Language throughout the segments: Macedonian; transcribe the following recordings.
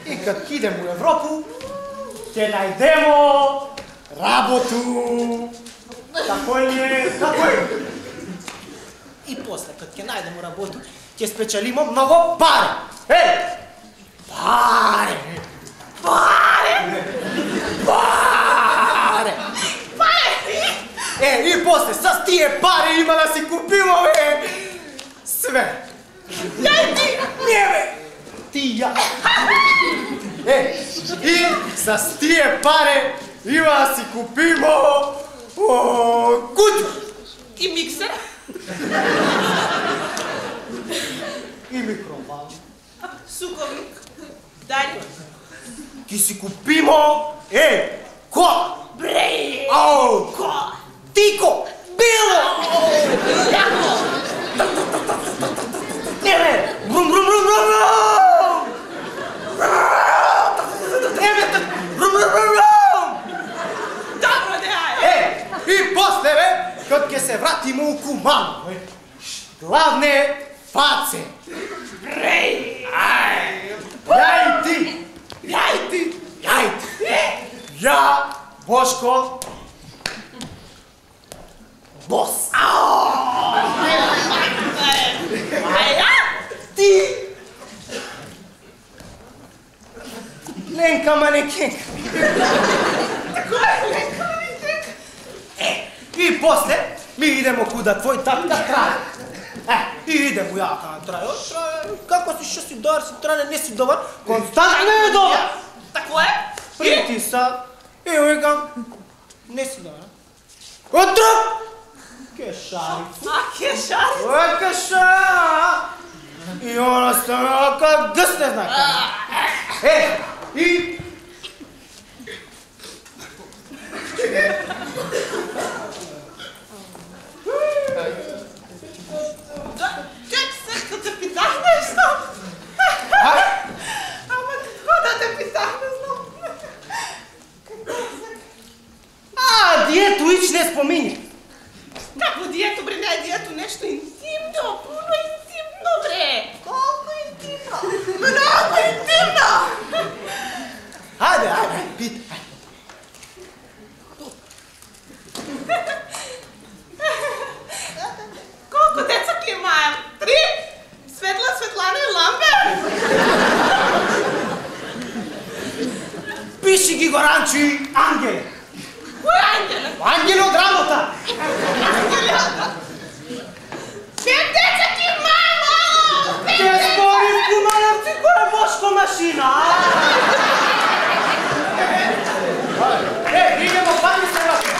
И кад идем у Европу, ќе најдемо работу. Тако е, тако е. И после, кад ќе најдемо работу, ќе спечелимо многу пари. Пари! Пари! Пари! Пари! И после, с тие пари има да си купимо, све. Ја и ти! Не, бе! Ти ја. И с тие пари има да си купимо кутија. И миксер. И микровал. Суковик. Дали. Ки си купимо, кола. Бре! Кола. Тико. Било. Јако. Не, бе. Брум, брум, брум, брум, брум. Не, бе. Брум, брум, брум, брум. Добро, дејај. И после, бе, кад ќе се вратимо у Кумано, главне фаце. Бре! Ја и ти. Ја и ти. Ја и ти. Ја, Бошко, бос. Ти. Ленка манекенка. Ленка манекенка. И после ми идемо куда твој татка Тране. И идемо јака на Тране. Како си, што си добар, си Тране, не си добар? Константно не е добар. Тако е? Притиса. И викам, не си добар. Отро! Кешари. Ке шари? Ой, кешари. И она стана как гъс не знае. И... Чек се, като те питах нещо. Ама какво да те питах, не знам. Дието ич не спомини. Какво дието, бре, не е дието нещо интимно, пълно интимно, бре. Колко интимно? Много интимно. Хайде, питай. Колко деца климаем? 3? Светла, Светлана и Ламбер. Пиши ги го ранчи Ангеле. Кој Ангеле? Ангеле од работа. Ангеле од... 5 деца климаем, ало! 5 Те деца! спори в Кумановци која е Бошко машина. Идемо, пати се врати.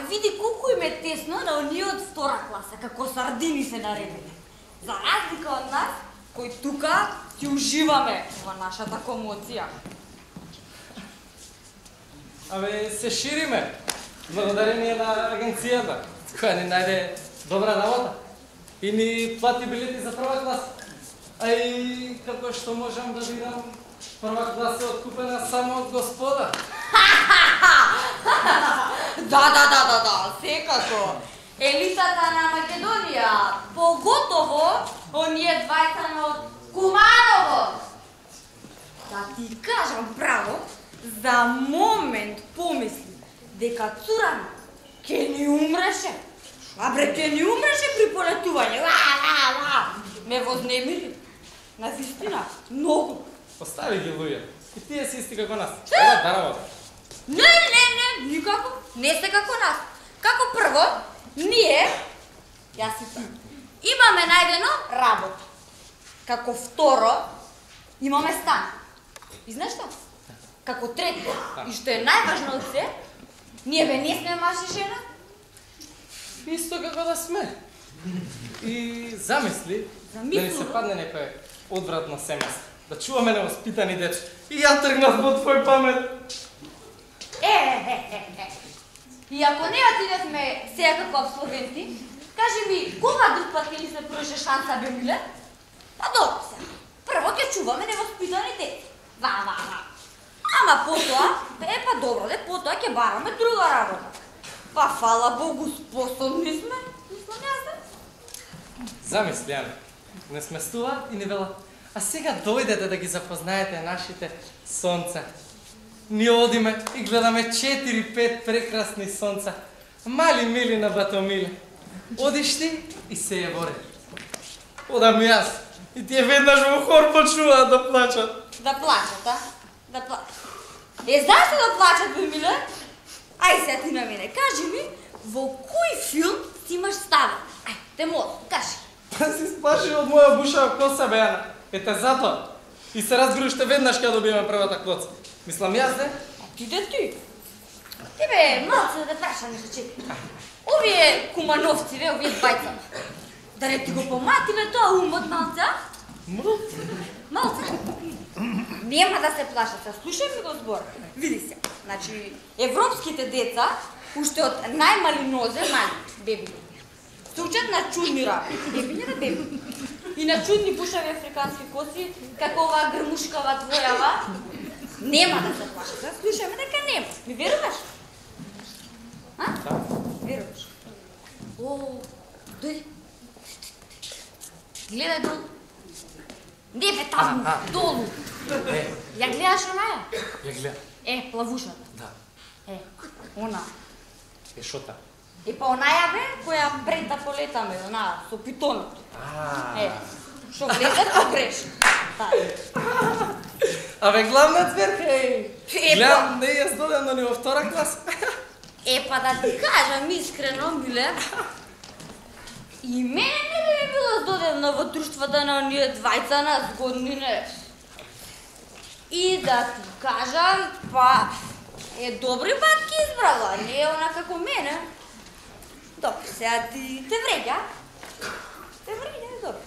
Види колку им е тесно на оние од втора класа, како сардини се наредиле. За разлика од нас, кои тука ќе уживаме во нашата комоција. Се шириме, благодарение на агенцијата, која ни најде добра работа и ни плати билети за прва класа. А и како што можам да видам, прва класа е откупена само од господа. Да, секако. Елитата на Македонија, поготово оние двајца од Куманово. Да ти кажам право, за момент помисли дека цурана ќе ни умреше. Ќе ни умреше при полетување. Ме вознемири. Навистина, многу. Остави ги луѓе. И тие си исти како нас. Едат да работа. Не, никако. Не сте како нас. Како прво, ние, јас и ти, имаме најдено работа. Како второ, имаме стан. И знаеш што? Како трето, и што е најважно од се, ние не сме маж и жена. Исто како да сме. И замисли, да ни се падне некој одвратно семејство. да чуваме невоспитани деца. И ја тргнав по твој памет. И ако не отидевме сега како абсолвенти, кажи ми, кога друг пат ќе ни се пруži шанса, бе, миле? Па добро се. Прво ќе чуваме невоспитани деца. Ва. Ама потоа, па добро, потоа ќе бараме друга работа. Па фала Богу, способни сме. Мислам јас да. Замисли, Ане, не сместува и не вела. А сега дојдете да ги запознаете нашите сонца. Ние одиме и гледаме 4-5 прекрасни сонца. Мали мили на Батомиле. Одиш ти и се ја воре. Одам јас. И тие веднаш во хор почнуваат да плачат. Да плачат, а? Да плачат. Знаеш ли да плачат, бе, миле? Ај сега ти на мене, кажи ми, во кој филм си имаш ставен? Ај, те молам, кажи. Па си сплаши од моја бушава коса, бе, Ана. Ете затоа. И се разбируште веднаш кога добиеме првата клоца. Мислам јас, де? Отиде ти. Ти бе, малце да прашам нешто, че. Овие кумановци, бе, овие двајца. Да не ти го поматиле тоа умот, малце, а? Малце. Нема да се плашат, слушај ми го збор. Види се, значи, европските деца, уште од најмали нозе, мали, беби, се учат на чудни работи, беби не да беби. И на чудни пушави африкански коси, како оваа грмушкава твојава, нема да се плашат, слушај ме дека нема. Ми веруваш? А? Да. Веруваш? О, дојди. Гледај долу. Не бе таму, долу. Ја гледаш онаја? Ја гледам. Плавушата. Да. Она. Шота. Па онаја бе, која прета полетаме, она, со питонот. Шо гледат, то греш. Абе, главна цверка, гледам, Па. не јас додам да ни во втора класа. Па да ти кажам искрено, миле, и мене не би било здодевно во друштвата на оние двајца на згодни не. И да ти кажам, па, добри батки избрала, не е она како мене. Добро, сега ти те вреѓа. Те вреѓа, добро.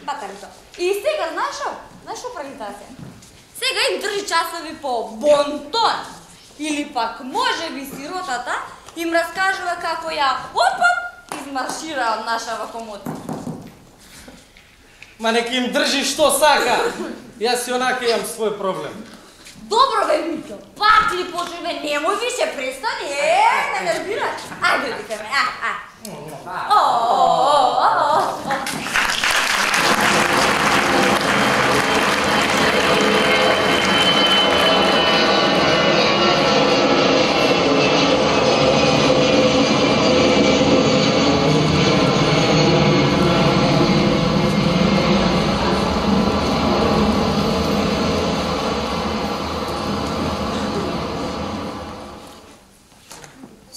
Батали тоа. И сега, знаеш шо? Знаеш шо прави таа сега? Сега им држи часови по бонтон. Или пак, може би сиротата им раскажува како ја, опа, измаршира од нашава комода. Ма нека им држи што сака. Јас и онака имам свој проблем. Добро бе, Миќо, пак ли почнеме, немој више, престани, не нервираш. Ајде, викаме,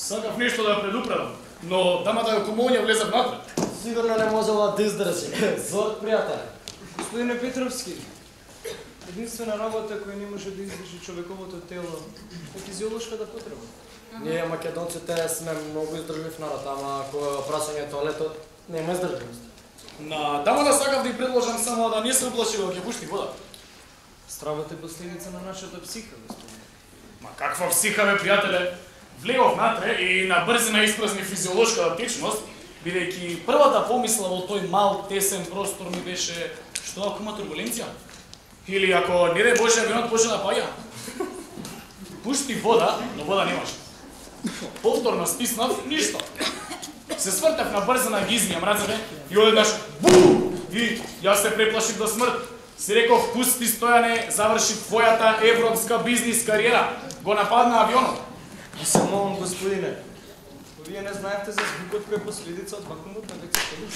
Сакав нешто да ја предупредам, но дамата ја комоња влеза внатре. Сигурно не можела да издржи. Зорт, пријателе. Господине Петровски, единствена работа која не може да издржи човековото тело е физиолошката потреба. Ние македонците сме многу издржлив народ, ама кога прашање тоалетот нема издржливост. На дамата сакав да ја предложам само да не се уплаши кога ќе пушти вода. Стравот е последица на нашата психа, господине. Ма каква психа, бе, пријателе? Влегов натре и на брзина испразни физиолошката течност, бидејќи првата помисла во тој мал, тесен простор ми беше што ако има турбуленција? Или ако не дај Боже авионот почне да паѓа? Пушти вода, но вода немаше. Повторно стиснав, ништо. Се свртев на брзина, ги измијам рацете и одеднаш бу! И јас се преплашив до смрт. Си реков, пусти Стојане, заврши твојата европска бизнис кариера. Го нападна авионот. Се молам, господине, вие не знаевте за звукот кој е последица од вакуумот на лексикон?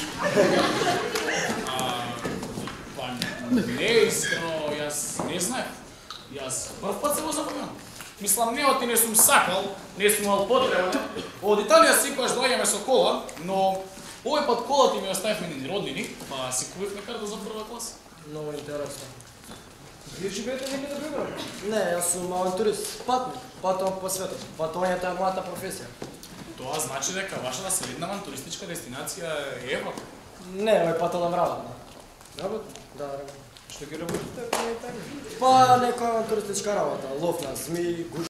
Па не, искрено, јас не знаев. Јас прв пат се го запомнам. Мислам, неоти не сум сакал, не сум имал потреба. Од Италија секогаш доаѓаме со кола, но овој пат колата ми оставивме ни роднини, па си купивме карта за прва класа. Много интересно. Вие живеете некаде во Европа? Не, јас сум авантурист, патник, патувам по светот. Патувањето е мојата професија. Тоа значи дека вашата следна туристичка дестинација е Европа. Не, овој пат одам работно. Работа? Да, работно. Што ги работите ако не е тајна? Па некоја туристичка работа, лов на змии,